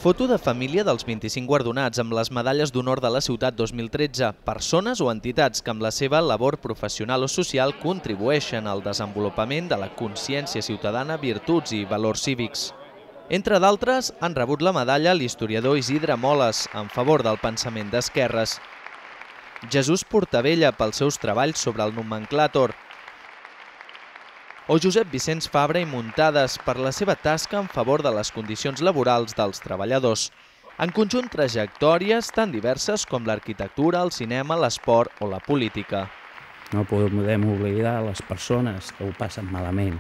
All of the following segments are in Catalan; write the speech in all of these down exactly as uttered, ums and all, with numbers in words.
Foto de família dels vint-i-cinc guardonats amb les medalles d'honor de la ciutat dos mil tretze, persones o entitats que amb la seva labor professional o social contribueixen al desenvolupament de la consciència ciutadana, virtuts i valors cívics. Entre d'altres, han rebut la medalla l'historiador Isidre Moles, en favor del pensament d'esquerres, Jesús Portabella pels seus treballs sobre el nomenclàtor, o Josep Vicenç Fabra i Muntades per la seva tasca en favor de les condicions laborals dels treballadors. En conjunt, trajectòries tan diverses com l'arquitectura, el cinema, l'esport o la política. No podem oblidar les persones que ho passen malament.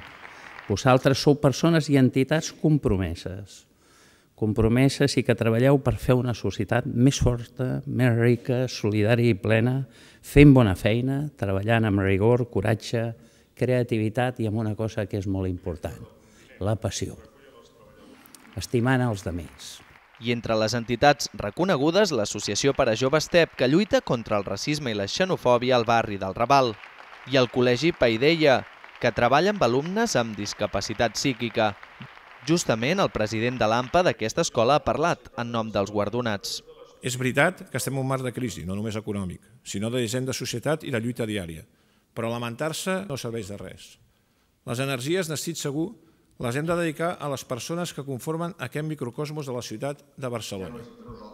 Vosaltres sou persones i entitats compromeses. Compromeses i que treballeu per fer una societat més forta, més rica, solidària i plena, fent bona feina, treballant amb rigor, coratge, creativitat i amb una cosa que és molt important, la passió, estimant els altres. I entre les entitats reconegudes, l'Associació per a Joves T E P, que lluita contra el racisme i la xenofòbia al barri del Raval, i el Col·legi Paideia, que treballa amb alumnes amb discapacitat psíquica. Justament el president de l'AMPA d'aquesta escola ha parlat en nom dels guardonats. És veritat que estem en un marc de crisi, no només econòmic, sinó de disseny de societat i de lluita diària. Però lamentar-se no serveix de res. Les energies, n'estic segur, les hem de dedicar a les persones que conformen aquest microcosmos de la ciutat de Barcelona,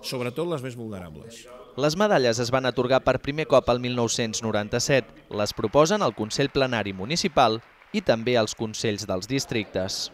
sobretot les més vulnerables. Les medalles es van atorgar per primer cop el mil nou-cents noranta-set. Les proposen el Consell Plenari Municipal i també els Consells dels Districtes.